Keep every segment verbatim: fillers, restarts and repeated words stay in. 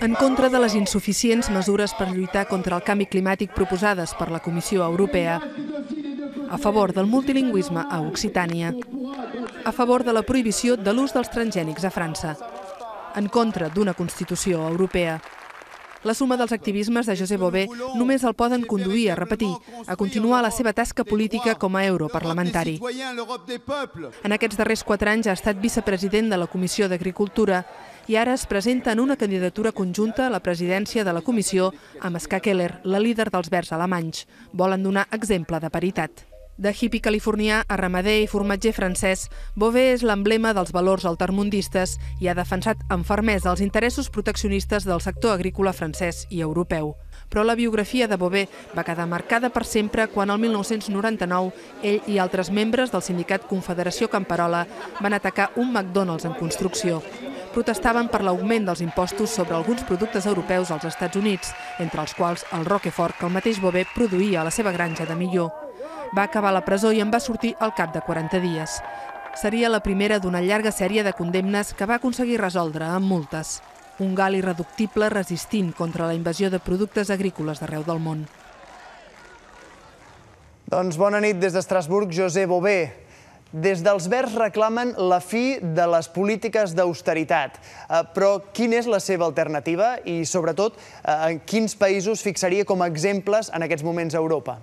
En contra de les insuficients mesures per lluitar contra el canvi climàtic proposades per la Comissió Europea, a favor del multilingüisme a Occitània, a favor de la prohibició de l'ús dels transgènics a França, en contra d'una Constitució europea. La suma dels activismes de José Bové només el poden conduir a repetir, a continuar la seva tasca política com a europarlamentari. En aquests darrers quatre anys ha estat vicepresident de la Comissió d'Agricultura i ara es presenta en una candidatura conjunta a la presidència de la comissió amb Ska Keller, la líder dels Verds alemanys. Volen donar exemple de paritat. De hippie californià a ramader i formatger francès, Bové és l'emblema dels valors altermundistes i ha defensat amb fermesa els interessos proteccionistes del sector agrícola francès i europeu. Però la biografia de Bové va quedar marcada per sempre quan el mil nou-cents noranta-nou ell i altres membres del sindicat Confederació Camperola van atacar un McDonald's en construcció. Protestaven per l'augment dels impostos sobre alguns productes europeus als Estats Units, entre els quals el Roquefort que el mateix Bové produïa a la seva granja de Millor. Va acabar a la presó i en va sortir al cap de quaranta dies. Seria la primera d'una llarga sèrie de condemnes que va aconseguir resoldre amb multes. Un gal irreductible resistint contra la invasió de productes agrícoles d'arreu del món. Doncs bona nit des d'Estrasburg, José Bové. Des dels Verds reclamen la fi de les polítiques d'austeritat. Però quina és la seva alternativa i, sobretot, en quins països fixaria com a exemples en aquests moments a Europa?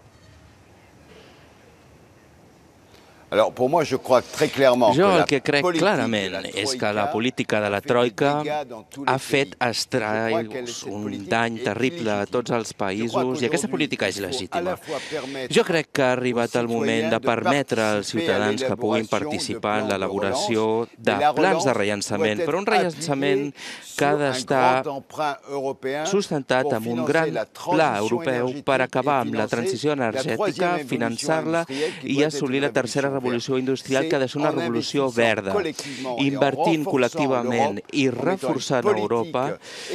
Jo el que crec clarament és que la política de la Troika ha fet estralls, un dany terrible a tots els països i aquesta política és legítima. Jo crec que ha arribat el moment de permetre als ciutadans que puguin participar en l'elaboració de plans de rellançament, però un rellançament que ha d'estar sustentat amb un gran pla europeu per acabar amb la transició energètica, finançar-la i assolir la tercera revolució revolució industrial que ha de ser una revolució verda, invertint col·lectivament i reforçant Europa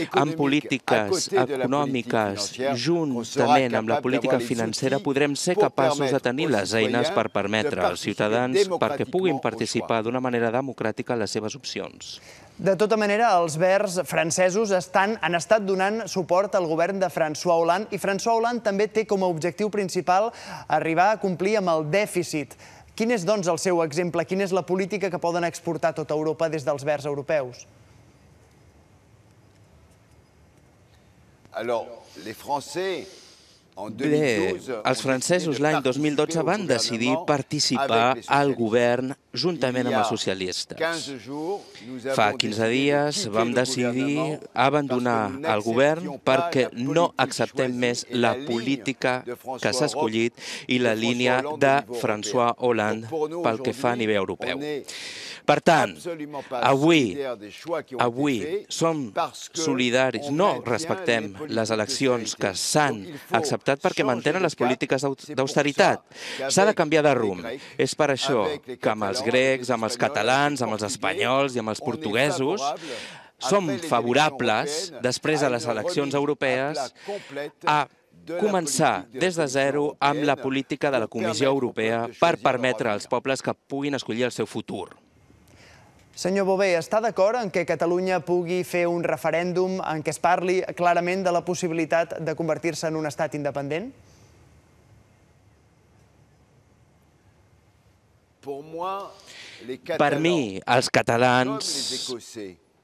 en polítiques econòmiques juntament amb la política financera podrem ser capaços de tenir les eines per permetre als ciutadans perquè puguin participar d'una manera democràtica en les seves opcions. De tota manera, els Verds francesos han estat donant suport al govern de François Hollande i François Hollande també té com a objectiu principal arribar a complir amb el dèficit. Quin és, doncs, el seu exemple? Quina és la política que poden exportar a tota Europa des dels Verds europeus? Bé, els francesos l'any dos mil dotze van decidir participar al govern juntament amb els socialistes. Fa quinze dies vam decidir abandonar el govern perquè no acceptem més la política que s'ha escollit i la línia de François Hollande pel que fa a nivell europeu. Per tant, avui, avui som solidaris, no respectem les eleccions que s'han acceptat perquè mantenen les polítiques d'austeritat. S'ha de canviar de rumb. És per això que amb els grecs, amb els catalans, amb els espanyols i amb els portuguesos som favorables, després de les eleccions europees, a començar des de zero amb la política de la Comissió Europea per permetre als pobles que puguin escollir el seu futur. Senyor Bové, està d'acord en que Catalunya pugui fer un referèndum en què es parli clarament de la possibilitat de convertir-se en un estat independent? Per mi, els catalans,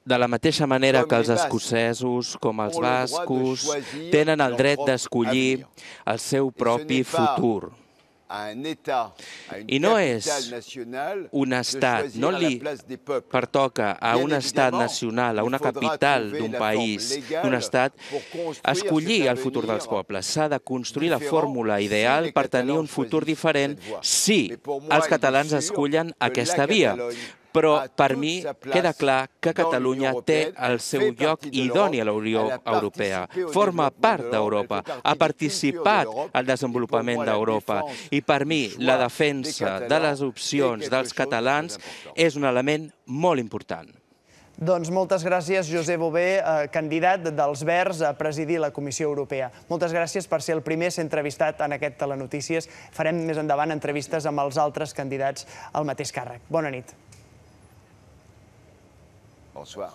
de la mateixa manera que els escocesos com els bascos, tenen el dret d'escollir el seu propi futur. I no és un estat, no li pertoca a un estat nacional, a una capital d'un país, d'un estat, escollir el futur dels pobles. S'ha de construir la fórmula ideal per tenir un futur diferent si els catalans escullen aquesta via. Però per mi queda clar que Catalunya té el seu lloc idoni a la Unió Europea. Forma part d'Europa, ha participat al desenvolupament d'Europa i per mi la defensa de les opcions dels catalans és un element molt important. Doncs moltes gràcies, José Bové, candidat dels Verds a presidir la Comissió Europea. Moltes gràcies per ser el primer a ser entrevistat en aquest Telenotícies. Farem més endavant entrevistes amb els altres candidats al mateix càrrec. Bona nit. Bonsoir.